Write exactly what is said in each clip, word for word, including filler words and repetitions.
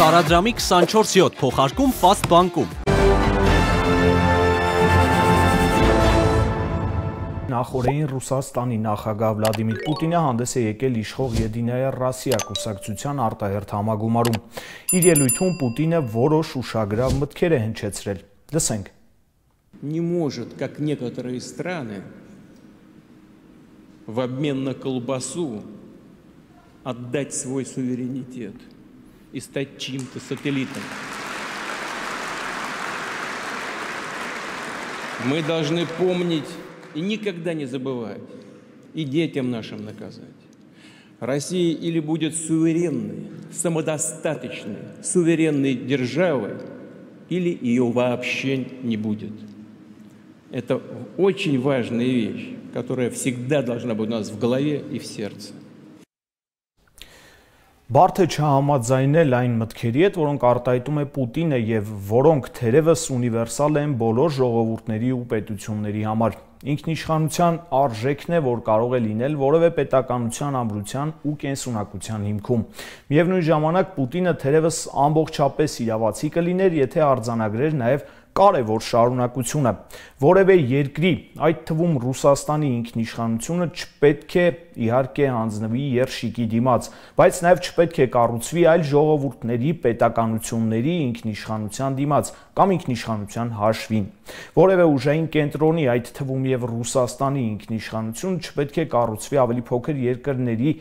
Տարադրամի քսանչորս յոթ փոխարկում Fast բանկում։ Նախորդին Ռուսաստանի նախագահ Վլադիմիր Պուտինը հանդես է եկել իշխող Եդինայա Ռոսիա կուսակցության արտահերթ համագումարում։ Իր ելույթում Պուտինը որոշ ուշագրավ մտքեր է հնչեցրել։ Լսենք։ Не может, как некоторые страны, в обмен на колбасу отдать свой суверенитет и стать чьим-то сателлитом. Мы должны помнить и никогда не забывать, и детям нашим наказать. Россия или будет суверенной, самодостаточной, суверенной державой, или ее вообще не будет. Это очень важная вещь, которая всегда должна быть у нас в голове и в сердце. Բարդ է չհամաձայնել այն մտքերի հետ, որոնք արտահայտում է Պուտինը եւ որոնք թերևս ունիվերսալ են բոլոր ժողովուրդների ու պետությունների համար։ Ինքնիշխանության արժեքն է, որ կարող է լինել որևէ պետականության ամրության ու կենսունակության հիմքում։ Միևնույն ժամանակ Պուտինը թերևս ամբողջապես իրավացի կլիներ, եթե արձանագրեր նաեւ կարևոր շարունակությունը։ Որևէ երկրի, այդ թվում Ռուսաստանի ինքնիշխանությունը չպետք է իհարկե հանձնվի երշիկի դիմաց, բայց նաև չպետք է կառուցվի այլ ժողովուրդների, պետականությունների ինքնիշխանության դիմաց կամ ինքնիշխանության հաշվին։ Որևէ ուժային կենտրոնի, այդ թվում եւ Ռուսաստանի ինքնիշխանությունը չպետք է կառուցվի ավելի փոքր երկրների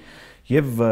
եւ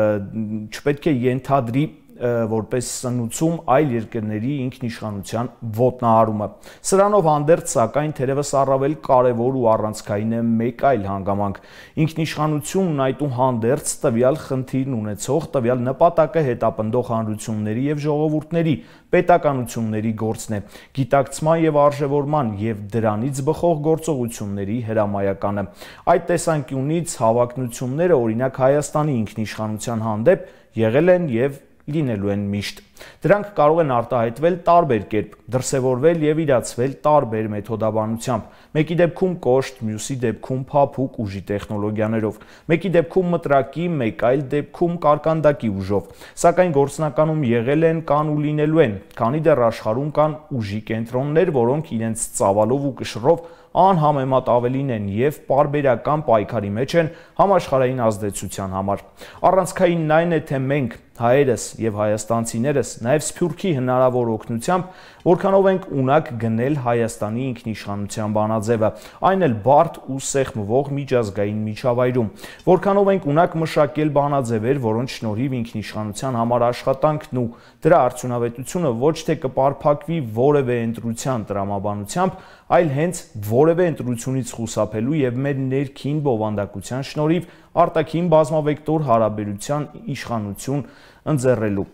չպետք է ենթադրի որպես սնուցում այլ երկրների ինքնիշխանության ոտնահարումը։ Սրանով հանդերձ, սակայն թերևս առավել կարևոր ու առանցքային է մեկ այլ հանգամանք։ Ինքնիշխանությունն այդուհանդերձ տվյալ խնդիրն ունեցող, տվյալ նպատակը հետապնդող հանրությունների եւ ժողովուրդների, պետականությունների գործն է, գիտակցման եւ արժեվորման եւ դրանից բխող գործողությունների հրամայականը։ Այդ տեսանկյունից հավակնությունները, օրինակ Հայաստանի ինքնիշխանության հանդեպ, եղել են եւ լինելու են միշտ։ Դրանք կարող են արտահայտվել տարբեր կերպ, դրսևորվել եւ իրացվել տարբեր մեթոդաբանությամբ։ Մեկի դեպքում կոշտ, մյուսի դեպքում փափուկ ուժի տեխնոլոգիաներով, մեկի դեպքում մտրակի, մեկ այլ դեպքում կարկանդակի ուժով։ Սակայն գործնականում եղել են, կան ու լինելու են, քանի դեռ աշխարհում կան ուժի կենտրոններ, որոնք իրենց ծավալով ու կշռով անհամեմատ ավելին են եւ պարբերական պայքարի մեջ են համաշխարհային ազդեցության համար։ Առանցքայինն այն է, թե մենք հայերս եւ հայաստանցիներս նաեւ Սփյուռքի հնարավոր օգնությամբ որքանով ենք ունակ գնել Հայաստանի ինքնիշխանության բանաձևը, այն էլ բարդ ու սեղմվող միջազգային միջավայրում, որքանով ենք ունակ մշակել բանաձևեր, որոնց շնորհիվ ինքնիշխանության համար աշխատանքն ու դրա արդյունավետությունը ոչ թե կպարփակվի որևէ ընտրության տրամաբանությամբ, այլ հենց որևէ ընտրությունից խուսափելու եւ մեր ներքին բովանդակության շնորհիվ արտաքին բազմավեկտոր հարաբերության իշխանություն ընձեռելու։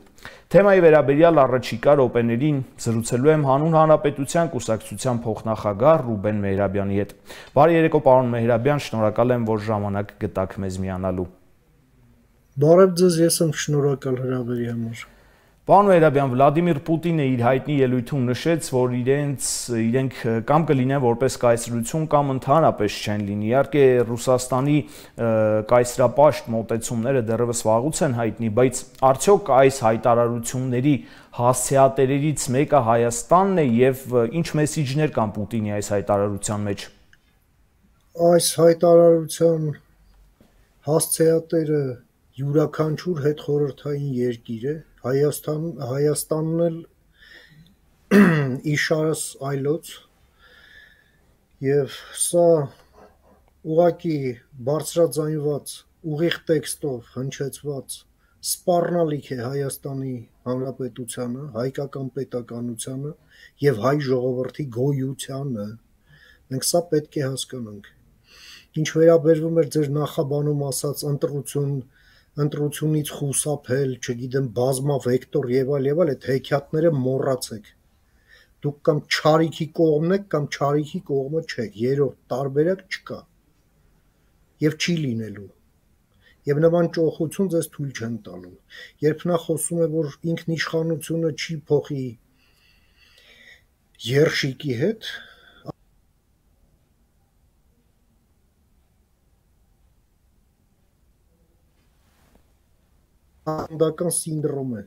Թեմայի վերաբերյալ առաջիկա րոպեներին զրուցելու եմ Հանուն Հանրապետության կուսակցության փոխնախագահ Ռուբեն Մեհրաբյանի հետ։ Բարի երեկո, պարոն Մեհրաբյան, շնորհակալ եմ, որ ժամանակ գտաք մեզ միանալու։ Բարև ձեզ, ես եմ շնորհակալ հրավերի համար։ Պարոն Մեհրաբյան, Վլադիմիր Պուտինը իր հայտնի ելույթում նշեց, որ իրենց իրենք կամ կլինեն որպես կայսրություն կամ ընդհանրապես չեն լինի։ Իհարկե Ռուսաստանի կայսրապաշտ մոտեցումները դեռևս վաղուց են հայտնի, բայց արդյոք այս հայտարարությունների հասցեատերերից մեկը Հայաստանն է եւ ինչ մեսիջներ կան Պուտինի այս հայտարարության մեջ։ Այս հայտարարության հասցեատերը յուրաքանչյուր հետխորհրդային երկիր է, Հայաստան, Հայաստանն էլ իշարս այլոց, եւ սա ուղղակի բարձրաձայնված, ուղիղ տեքստով հնչեցված սպառնալիք է Հայաստանի Հանրապետությանը, հայկական պետականությանը եւ հայ ժողովրդի գոյությանը։ Մենք սա պետք է հասկանանք։ Ինչ վերաբերվում է ձեր նախաբանում ասած ընտրություն ընտրությունից խուսափել, չգիտեմ, բազմավեկտոր եւ այլ եւ այլ, այդ հեքիաթները մոռացեք։ Դուք կամ չարիքի կողմն եք, կամ չարիքի կողմը չեք, երրորդ տարբերակ չկա եւ չի լինելու։ Եվ նման ճոխություն ձեզ թույլ չեն տալու։ Երբ նա խոսում է, որ ինքնիշխանությունը չի փոխի երշիկի հետ, անդական սինդրոմ է։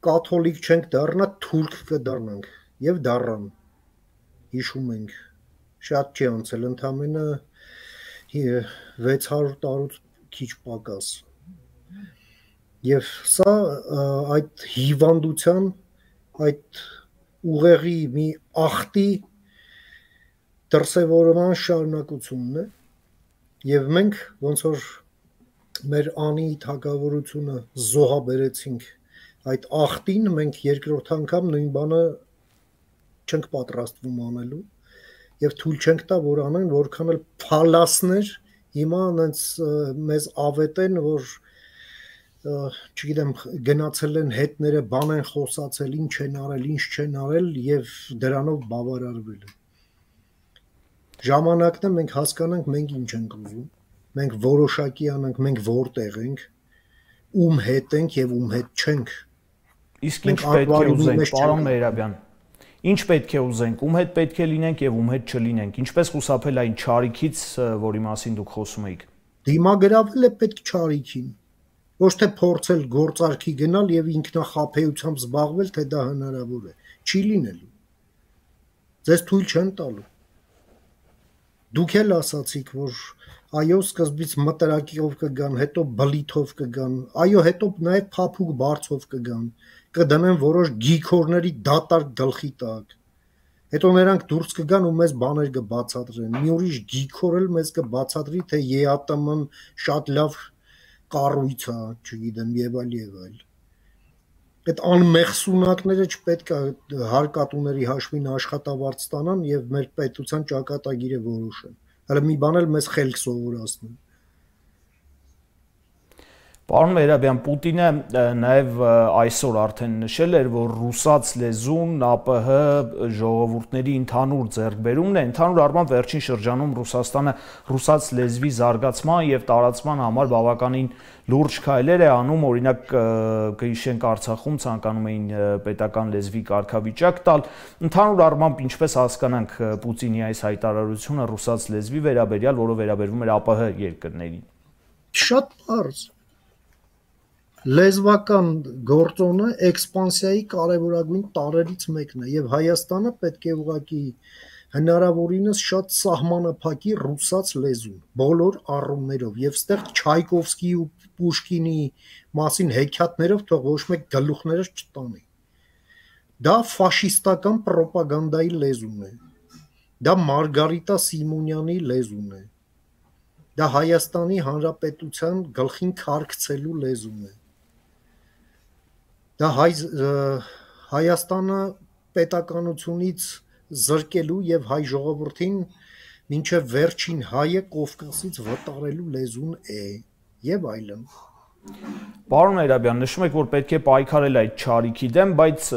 կաթոլիկ չենք դառնա, թուրք կդառնանք եւ դառան։ Հիշում ենք, շատ չի անցել, ընդամենը վեց հարյուր տարուց քիչ պակաս։ Եվ սա այդ հիվանդության, այդ ուղեղի մի ախտի դրսևորման շարունակությունն է, եւ մենք ոնց որ մեր անի թագավորությունը զոհաբերեցինք այդ ախտին, մենք երկրորդ անգամ նույն բանը չենք պատրաստվում անելու եւ թույլ չենք տա, որ անեն, որքան էլ փալասներ հիմա այնց մեզ ավետեն, որ չգիտեմ, գնացել են հետները, բան են խոսացել, ինչ են արել, ինչ չեն արել եւ դրանով բավարարվել են։ Ժամանակն է մենք հասկանանք մենք ինչ ենք ուզում, մենք որոշակի անենք, մենք որտեղ ենք, ում հետ ենք եւ ում հետ չենք։ Իսկ ինչ պետք է ուզենք, պարոն Մեհրաբյան, ինչ պետք է ուզենք, ում հետ պետք է լինենք եւ ում հետ չլինենք, ինչպես խուսափել այն չարիքից, որի մասին դուք խոսում եք։ Դիմագրավել է պետք չարիքին, ոչ թե փորձել գործարքի գնալ եւ ինքնախապեյությամբ զբաղվել, թե դա հնարավոր է, չի լինելու։ Ձեզ թույլ չեն տալու։ Դուք էլ ասացիք, որ այո, սկզբից մտրակիով կգան, հետո բլիթով կգան, այո, հետո նաեւ փափուկ բարձով կգան, կդնեն որոշ գիքորների դատարկ գլխի տակ։ Հետո նրանք դուրս կգան ու մեզ բաներ կբացատրեն։ Մի ուրիշ գիքոր էլ մեզ կբացատրի, թե ԵԱՏՄ-ն շատ լավ կառույց է, չգիտեմ, եւ այլ եւ այլ։ Այդ անմեղսունակները չպետք է հարկատուների հաշվին աշխատավարձ ստանան եւ մեր պետության ճակատագիրը որոշեն։ Հələ մի բան էլ մեզ խելք սովորացնեն։ Պարոն Մեհրաբյան, Պուտինը նաև այսօր արդեն նշել էր, որ ռուսաց լեզուն ԱՊՀ ժողովուրդների ընդհանուր ձեռքբերումն է, ընդհանուր առմամբ վերջին շրջանում Ռուսաստանը ռուսաց լեզվի զարգացման եւ տարածման համար բավականին լուրջ քայլեր է անում, օրինակ կհիշենք Արցախում ցանկանում էին պետական լեզվի կարգավիճակ տալ, ընդհանուր առմամբ ինչպես հասկանանք Պուտինի այս հայտարարությունը ռուսաց լեզվի վերաբերյալ, որը վերաբերվում էր ԱՊՀ երկրներին։ Շատ բարձ Լեզվական գործոնը էքսպանսիայի կարևորագույն տարրերից մեկն է եւ Հայաստանը պետք է ուղղակի հնարավորինս շատ սահմանափակի ռուսաց լեզուն բոլոր առումներով եւ ստեղ Չայկովսկիի ու Պուշկինի մասին հեքիաթներով թող ոչ մեկ գլուխներս չտանի։ Դա ֆաշիստական ռոպագանդայի լեզուն է։ Դա Մարգարիտա Սիմոնյանի լեզուն է։ Դա Հայաստանի Հանրապետության գլխին քարքցելու լեզուն է։ Դա հայ Հայաստանը պետականությունից զրկելու եւ հայ ժողովրդին մինչեւ վերջին հայը Կովկասից վտարելու լեզուն է եւ այլն։ Պարոն Մեհրաբյան, նշում եք, որ պետք է պայքարել այդ չարիքի դեմ, բայց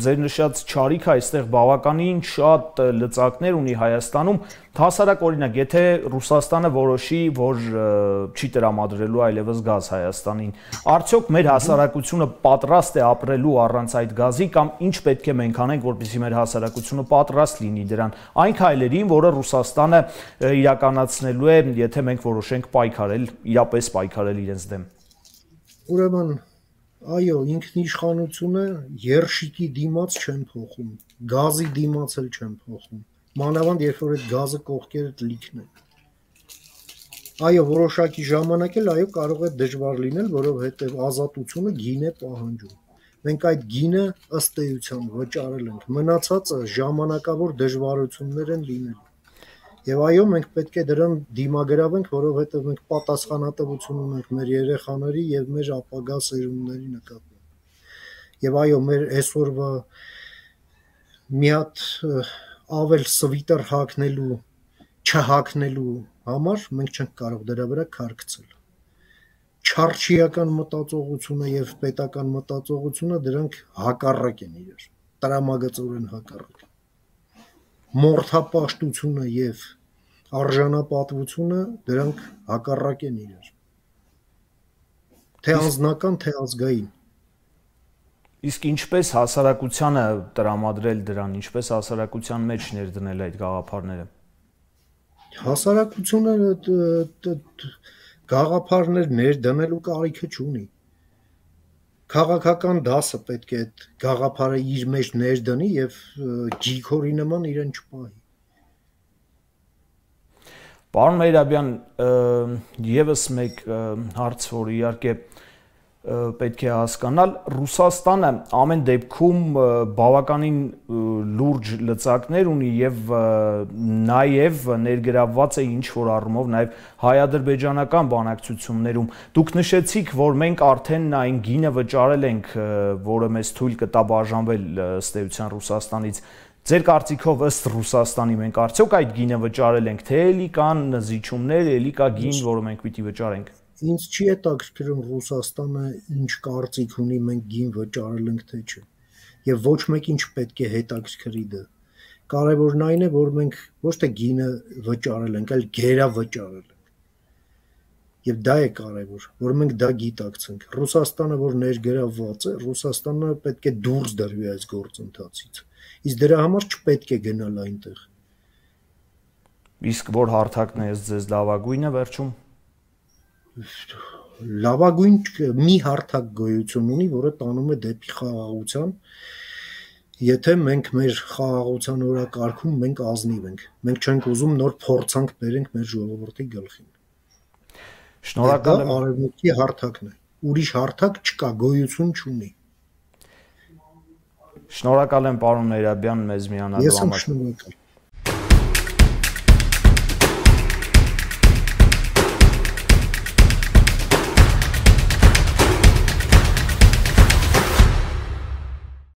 ձեր նշած չարիքը այստեղ բավականին շատ լծակներ ունի Հայաստանում, հասարակ օրինակ, եթե Ռուսաստանը որոշի, որ չի տրամադրելու այլևս գազ Հայաստանին, արդյոք մեր հասարակությունը պատրաստ է ապրելու առանց այդ գազի կամ ինչ պետք է մենք անենք, որպեսզի մեր հասարակությունը պատրաստ լինի դրան, այն քայլերին, որը Ռուսաստանը իրականացնելու է, եթե մենք որոշենք պայքարել, իրապես պայքարել իրենց դեմ։ Ուրեմն, այո, ինքնիշխանությունը երշիկի դիմաց չեն փոխում, գազի դիմաց էլ չեն փոխում, մանավանդ երբ որ այդ գազը կողքերդ լիքն է։ Այո, որոշակի ժամանակ էլ այո կարող է դժվար լինել, որովհետև ազատությունը գին է պահանջում։ Մենք այդ գինը ըստ էության վճարել ենք, մնացածը ժամանակավոր դժվարություններ են լինելու։ Եվ այո, մենք պետք է դրան դիմագրավենք, որովհետև մենք պատասխանատվություն ունենք մեր երեխաների եւ մեր ապագա սերունդների նկատմամբ։ Եվ այո, մեր այսօրվա մի հատ ավել սվիտեր հագնելու, չհագնելու համար մենք չենք կարող դրա վրա քարքցել։ Չարչիական մտածողությունը եւ պետական մտածողությունը դրանք հակառակ են իրար, տրամագծորեն հակառակ։ Մորթապաշտությունը եւ արժանապատվությունը դրանք հակառակ են իրար։ Թե անձնական, թե ազգային։ Իսկ ինչպես հասարակությանը տրամադրել դրան, ինչպես հասարակության մեջ ներդնել այդ գաղափարները։ Հասարակությունը գաղափարներ ներդնելու կարիքը չունի։ Քաղաքական դասը պետք է այդ գաղափարը իր մեջ ներդնի եւ ջիքորի նման իրեն չպահի։ Պարոն Մերաբյան, եւս մեկ հարց, որ իհարկե պետք է հասկանալ, Ռուսաստանը ամեն դեպքում բավականին լուրջ լծակներ ունի եւ նաեւ ներգրավված է ինչ որ առումով նաեւ հայ-ադրբեջանական բանակցություններում։ Դուք նշեցիք, որ մենք արդեն այն գինը վճարել ենք, որը մեզ թույլ կտա բաժանվել ըստ էության Ռուսաստանից։ Ձեր կարծիքով ըստ Ռուսաստանի մենք արդյոք այդ գինը վճարել ենք, թե էլի կան զիջումներ, էլի կա գին, որը մենք պիտի վճարենք։ Ինձ չի հետաքրքրում Ռուսաստանը ինչ կարծիք ունի, մենք գին վճարել ենք թե չէ, եւ ոչ մեկին չպետք է հետաքրքրի դա։ Կարևորն այն է, որ մենք ոչ թե գինը վճարել ենք, այլ գերա վճարել ենք։ Եվ դա է կարևոր, որ մենք դա գիտակցենք։ Ռուսաստանը, որ ներգրավված է, Ռուսաստանը պետք է դուրս դրվի այս գործընթացից։ Իսկ դրա համար չպետք է գնալ այնտեղ։ Իսկ որ հարթակն է ձեզ լավագույնը վերջում։ Լավագույն մի հարթակ գոյություն ունի, որը տանում է դեպի խաղաղության, եթե մենք մեր խաղաղության օրակարգում մենք ազնիվ ենք, մենք չենք ուզում նոր փորձանք բերենք մեր ժողովրդի գլխին։ Շնորհակալ եմ։ Արևմուտքի հարթակն է, ուրիշ հարթակ չկա, գոյություն չունի։ Շնորհակալ եմ պարոն Մերաբյան մեզ միանալու համար։ Ես եմ շնորհակալ։